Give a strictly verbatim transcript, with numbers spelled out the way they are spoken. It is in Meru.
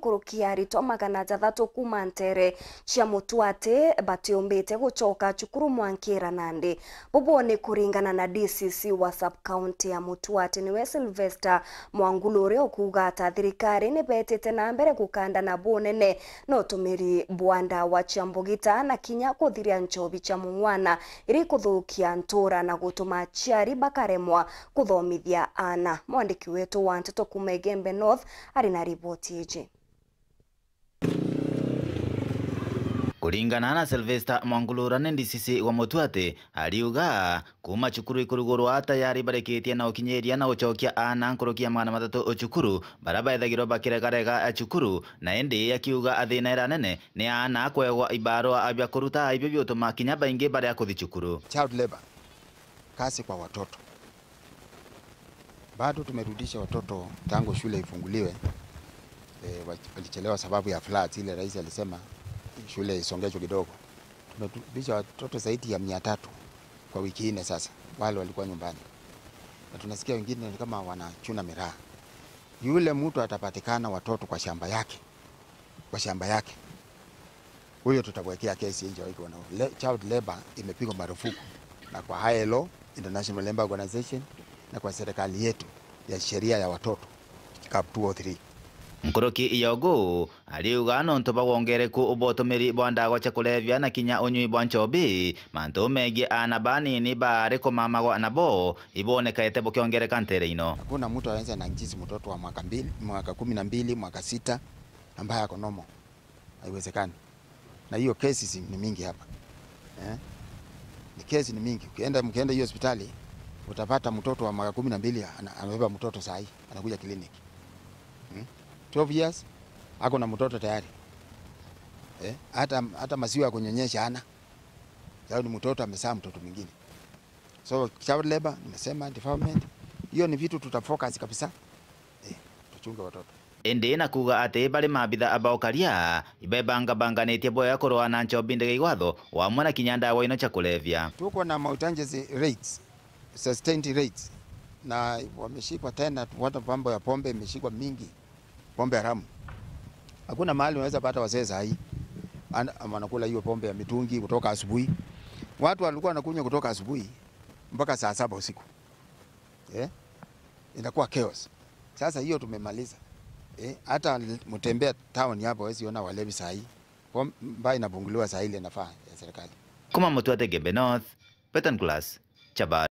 nkuruki ya aritwa magana jathatu kuuma nteere cia Mutwati batiumbite gucoka cukuru mwankira nandi. Bubu ni kuringana na D C C wa sub-county ya Mutwati, niwe Sylvester Mwangulu, uria ukuuga ata thirikari ni betite na mbere gukandana bunene na utumiri bwa ndawa cia mbugita na kinya kuthiria nchobi cia mung'wana iri kuthukia ntura na gutuma aciari bakaremwa kuthomithia aana. Mwandiki wetu wa nteto kuuma Igembe North ari na riboti iji. Kuringana na Sylvester Mwangulu, uria ni D C C wa Mutwati, ariuga kuuma cukuru ikurugurwa tayari barikitie na ukinyiria na gucokia aana nkuruki ya magana mathatu cukuru, baria bethagirwa bakiregarega cukuru, na indi akiuga thina iria nene ni aana kwegwa ibarua bia kuruta, ibio biutuma kinya baingi baria kuthi cukuru. Child labor, kazi kwa watoto. Bado tumerudisha watoto tangu shule ifunguliwe. E, wa- walichelewa sababu ya floods, ile rais alisema shule isongeshwe kidogo. Tumerudisha watoto zaidi ya mia tatu kwa wiki nne sasa, wale walikuwa nyumbani, na tunasikia wengine ni kama wanachuna miraa. Yule mtu atapatikana watoto kwa shamba yake, kwa shamba yake, huyo tutamwekea kesi nje. Iko na le, child labor imepigwa marufuku na kwa I L O, International Labour Organization, na kwa serikali yetu ya sheria ya watoto, cap two oh three. Nkuruki ya ugu, ariuga nontu bwa wongereku bwa utumiri bwa ndawa cia kulevya na kinya unyui bwa nchobi, mantu megie aana banini baari kumamagwa nabo ibonekete bukiongereka nteere ino. Hakuna mtu anaweza na njisi mtoto wa mwaka mbili, mwaka kumi na mbili, mwaka sita, ambaye ako normal. Haiwezekani. Na hiyo cases ni mingi hapa. Eh? Ni kesi ni mingi. Ukienda, mkienda hiyo hospitali, utapata mtoto wa mwaka kumi na mbili ana- amebeba mtoto saa hii, anakuja kliniki. Hmm? Twelve years, ako na mtoto tayari. Eh? Hata, hata maziwa ya kunyonyesha hana. Sababu ni mtoto amezaa mtoto mwingine. So, child labor, nimesema, defilement, hiyo ni vitu tutafocus kabisa. Eh, tuchunge watoto. Indi na kuuga ati bari maabitha ba ukaria ibebangabanganitie bwega kurwaa na nchobi ndege igwatho, wamwe na kinya ndawa ino cia kulevya. Tuko na mautanjezi raids, sustained raids, na wameshikwa tena, watu, mambo ya pombe imeshikwa mingi, pombe haramu. Hakuna mahali unaweza pata wazee saa hii. Ana- wanakula hiyo pombe ya mitungi kutoka asubuhi. Watu walikuwa wanakunywa kutoka asubuhi mpaka saa saba usiku. Eh? Inakuwa chaos. Sasa hiyo tumemaliza. Eh? Hata mtembea town hapo, huwezi ona walevi saa hii. Pom- baa inapunguliwa saa ile inafaa ya serikali. Kuma Mutwati Igembe North, Beton Class, Chabari.